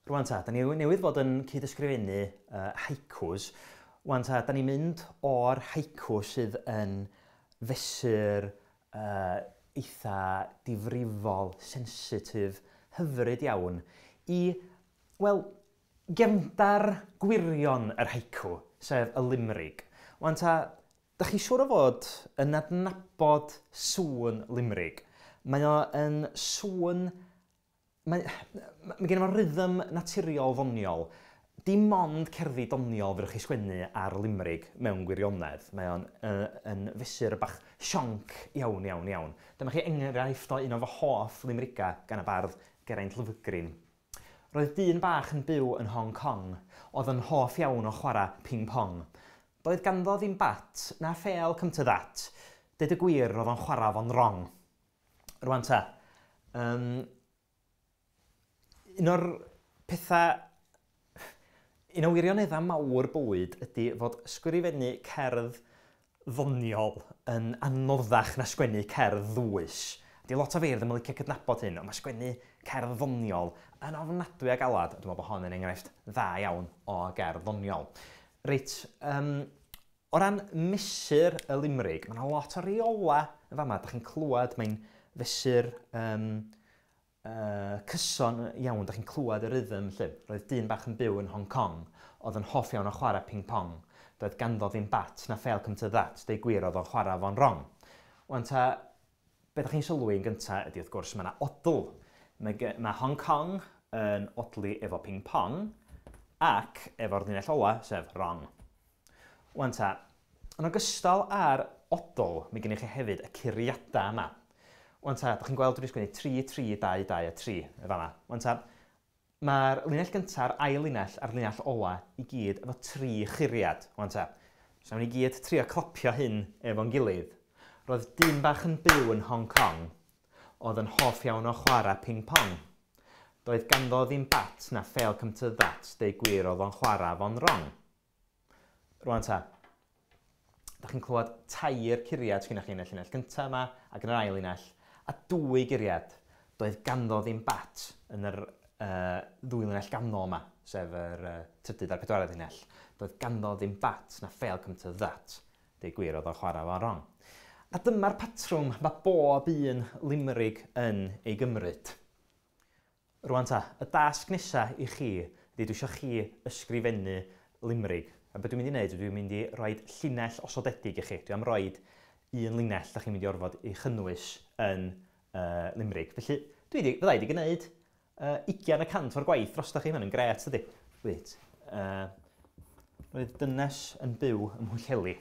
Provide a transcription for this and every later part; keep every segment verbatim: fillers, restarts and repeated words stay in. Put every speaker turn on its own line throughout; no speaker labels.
Rwan ta, da ni newydd fod yn cyd-ysgrifennu uh, haikus. Rwan ta, da ni'n mynd o'r haiku sydd yn fesur uh, eitha difrifol, sensitif, hyfryd iawn, i, wel, gefndar gwirion yr haiku, sef y limrig. Rwan ta, da chi siŵr o fod yn adnabod sŵn limrig. Mae o yn sŵn... Mae, mae gen i fo rhythm naturiol ddoniol. Dim ond cerddi doniol fedrwch chi sgwennu ar limrig mewn gwirionedd. Mae o'n uh, yn fesur bach sionc iawn, iawn, iawn. Dyma chi enghraifft o un o fy hoff limriga gan y bardd Geraint Lovgreen. Roedd dyn bach yn byw yn Hong Kong, oedd yn hoff iawn o chwarae ping-pong. Doedd ganddo ddim bat, na phêl come to that. Deud y gwir, roedd o'n chwarae fo'n wrong. Rwan ta, um, un o'r pethau, un o wirioneddau mawr bywyd ydy fod sgrifennu cerdd ddoniol yn anoddach na sgwennu cerdd ddwys. Di lot o feirdd ddim yn licio cydnabod hyn, ond mae sgwennu cerdd ddoniol yn ofnadwy a galad. Dwi'n meddwl bod hon yn enghraifft dda iawn o gerdd ddoniol. Reit, um, o ran mesur y limrig, mae yna lot o reola yn fama. Dach chi'n clywed, mae'n fesur um, uh, cyson iawn, dach chi'n clywed y rhythm lle. Roedd dyn bach yn byw yn Hong Kong, oedd yn hoff iawn o chwarae ping-pong. Doedd ganddo ddim bat na phêl come to that, deud gwir oedd o'n chwarae fo'n wrong. Wan ta, be ddech chi'n sylwi yn gyntaf ydy wrth gwrs mae yna odl. Mae, mae Hong Kong yn odli efo ping-pong ac efo'r linell ola, sef wrong. Wan ta, yn ogystal â'r odl, mae gennych chi hefyd y curiadau yma. Wan ta, ddech chi'n gweld dwi wedi sgwennu tri, tri, dau, dau a tri y fanna. Wan ta, mae'r linell gyntaf, ail linell a'r linell ola i gyd efo tri churiad. Wan ta, so nawn ni gyd trio clapio hyn efo'n gilydd. Roedd dyn bach yn byw yn Hong Kong, oedd yn hoff iawn o chwarae ping-pong. Doedd ganddo ddim bat na phêl come to that, deud gwir oedd o'n chwarae fo'n wrong. Rwan ta, da chi'n clywed tair curiad sgynnoch chi yn y llinell gyntaf yma ac yn yr ail linell, a dwy guriad. Doedd ganddo ddim bat yn yr uh, ddwy linell ganol yma, sef yr uh, trydydd a'r pedwaredd linell. Doedd ganddo ddim bat na phêl come to that, deud gwir oedd o'n chwarae fo'n wrong. A dyma'r patrwm mae bob un limrig yn ei gymryd. Rwan ta, y dasg nesaf i chi ydy dwi eisiau chi ysgrifennu limrig. A beth dwi'n mynd i wneud, dwi'n mynd i roi llinell osodedig i chi. Dwi am roid un linell da chi'n mynd i orfod ei chynnwys yn uh, limrig. Felly, dwi di, fydda i wedi gwneud uh, ugain y cant o'r gwaith drosta chi. Mae'n grêt, ydy. Wait, uh, roedd dynes yn byw ym Mhwllheli.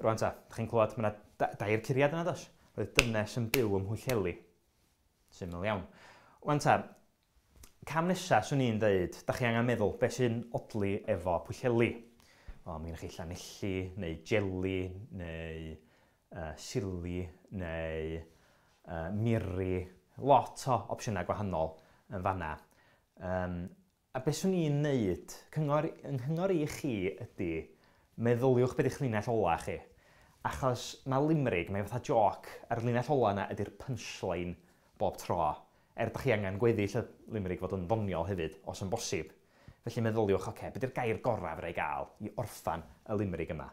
Rwan ta, da chi'n clywed, mae yna dair curiad yna, does? Roedd dynes yn byw ym Mhwllheli. Syml iawn. Rwan ta, cam nesaf swn i'n dweud, da chi angen meddwl beth sy'n odli efo Pwllheli. O, mae gennych chi Llanelli, neu jeli, neu uh, sili, neu uh, miri. Lot o opsiynau gwahanol yn fanna. Um, a beth swn i'n neud, cyngor, yng nghyngor i chi ydy, meddyliwch beth yw'ch linell ola chi. Achos mae limrig, mae fatha joc, a'r linell ola yna ydy'r punchline bob tro. Er da chi angen gweddill y limrig fod yn ddoniol hefyd, os yn bosib. Felly meddyliwch, oce, okay, beth yw'r gair gorau fedra i gael i orffan y limrig yma?